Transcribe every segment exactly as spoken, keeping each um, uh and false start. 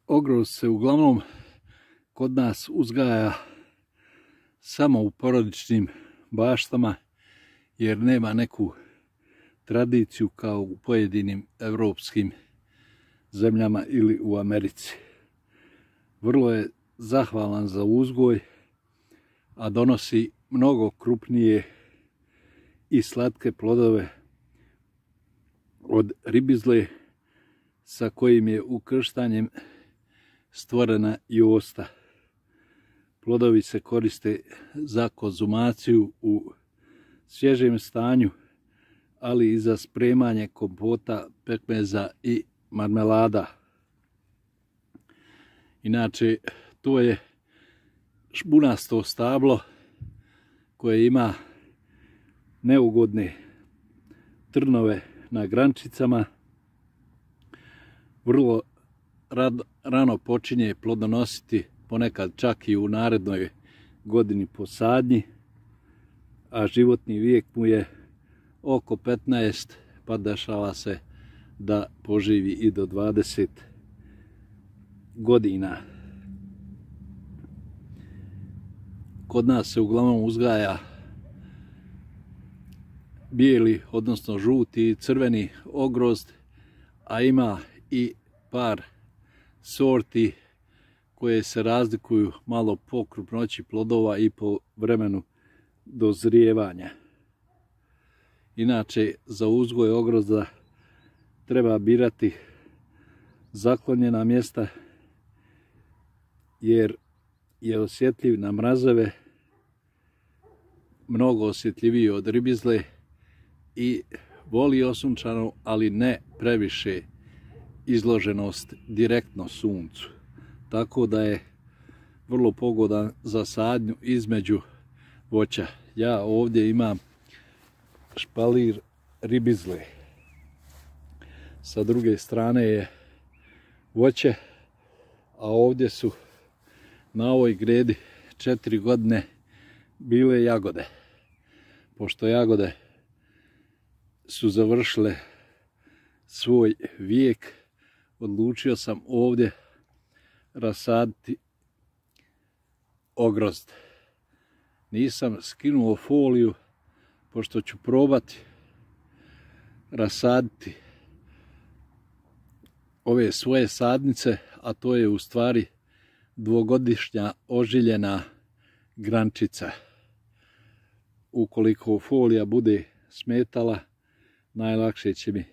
Ogrozd se uglavnom kod nas uzgaja samo u porodičnim baštama jer nema neku tradiciju kao u pojedinim evropskim zemljama ili u Americi. Vrlo je zahvalan za uzgoj, a donosi mnogo krupnije i slatke plodove od ribizle sa kojim je ukrštanjem stvorena josta. Plodovi se koriste za konzumaciju u svježem stanju, ali i za spremanje kompota, pekmeza i marmelada. Inače, to je špunasto stablo koje ima neugodne trnove na grančicama. Vrlo rano počinje plodonositi, ponekad čak i u narednoj godini po sadnji, a životni vijek mu je oko petnaest, pa dešava se da poživi i do dvadeset godina. Kod nas se uglavnom uzgaja bijeli, odnosno žuti i crveni ogrozd, a ima i par sorti koje se razlikuju malo po krupnoći plodova i po vremenu dozrijevanja. Inače, za uzgoj ogrozda treba birati zaklonjena mjesta jer je osjetljiv na mrazeve, mnogo osjetljiviji od ribizle i voli osunčanu, ali ne previše izloženost direktno suncu. Tako da je vrlo pogodan za sadnju između voća. Ja ovdje imam špalir ribizle. Sa druge strane je voće, a ovdje su na ovoj gredi četiri godine bile jagode. Pošto jagode su završile svoj vijek, odlučio sam ovdje rasaditi ogrozd. Nisam skinuo foliju, pošto ću probati rasaditi ove svoje sadnice, a to je u stvari dvogodišnja ožiljena grančica. Ukoliko folija bude smetala, najlakše će mi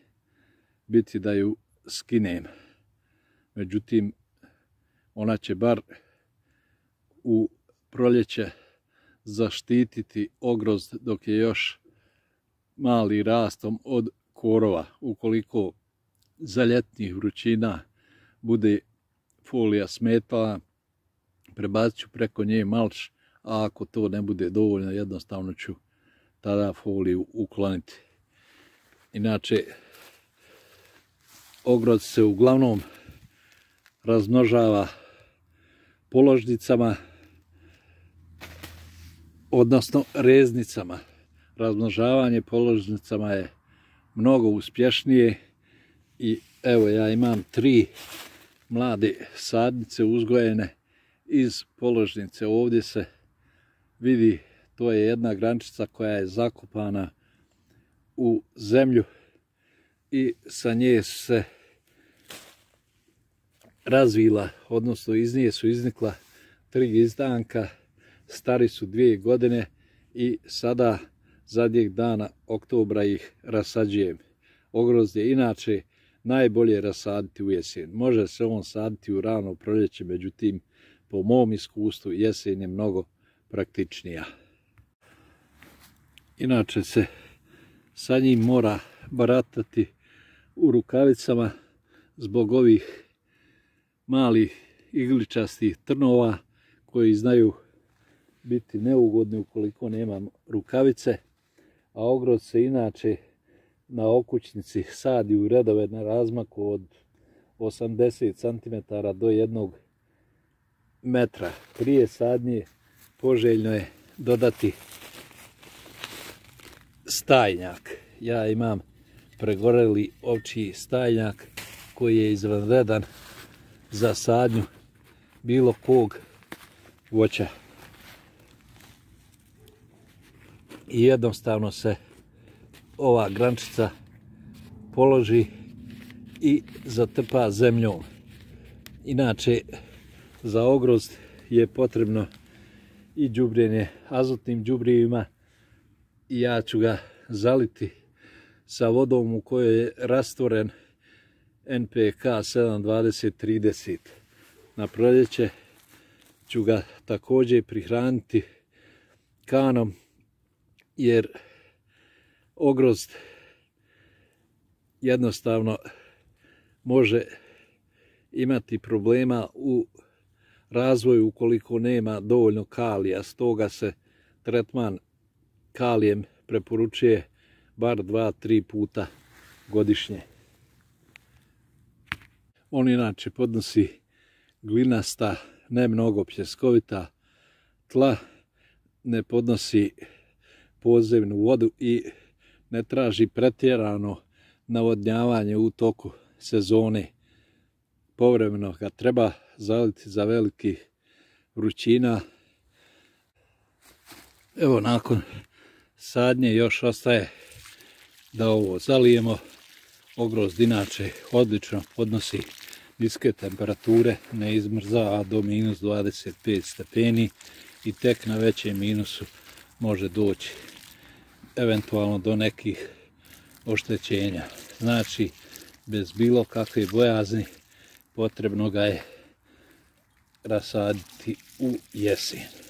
biti da ju skinem. Međutim, ona će bar u proljeće zaštititi ogrozd dok je još mali rastom od korova. Ukoliko za ljetnih vrućina bude folija smetala, prebacit ću preko nje malč, a ako to ne bude dovoljno, jednostavno ću tada foliju ukloniti. Inače, ogrozd se uglavnom razmnožava položnicama, odnosno reznicama. Razmnožavanje položnicama je mnogo uspješnije i evo, ja imam tri mlade sadnice uzgojene iz položnice. Ovdje se vidi, to je jedna grančica koja je zakopana u zemlju i sa nje se razvila, odnosno iz nje su iznikla tri izdanka, stari su dvije godine i sada zadnjeg dana oktobra ih rasađujem. Ogrozd je inače najbolje rasaditi u jesen. Može se on saditi u rano proljeće, međutim, po mom iskustvu jesen je mnogo praktičnija. Inače se sa njim mora baratati u rukavicama zbog ovih malih igličastih trnova koji znaju biti neugodni ukoliko nemam rukavice, a ogrozd se inače na okućnici sadi u redove na razmaku od osamdeset centimetara do jednog metra. Prije sadnje poželjno je dodati stajnjak. Ja imam pregoreli ovčji stajnjak koji je izvanredan za sadnju bilo kog voća. I jednostavno se ova grančica položi i zatrpa zemljom. Inače, za ogrozd je potrebno i đubrjenje azotnim đubrijevima i ja ću ga zaliti sa vodom u kojoj je rastvoren N P K sedam dvadeset trideset. Na proljeće ću ga također prihraniti kanom, jer ogrozd jednostavno može imati problema u razvoju ukoliko nema dovoljno kalija. Stoga se tretman kalijem preporučuje bar dva do tri puta godišnje. On inače podnosi glinasta, ne mnogo pljeskovita tla, ne podnosi podzemnu vodu i ne traži pretjerano navodnjavanje u toku sezone. Povremeno ga treba zaliti za velikih vrućina. Evo, nakon sadnje još ostaje da ovo zalijemo. Ogrozd inače odlično podnosi niske temperature, ne izmrzava do minus dvadeset pet stepeni i tek na većem minusu može doći eventualno do nekih oštećenja. Znači, bez bilo kakve bojazni potrebno ga je rasaditi u jesen.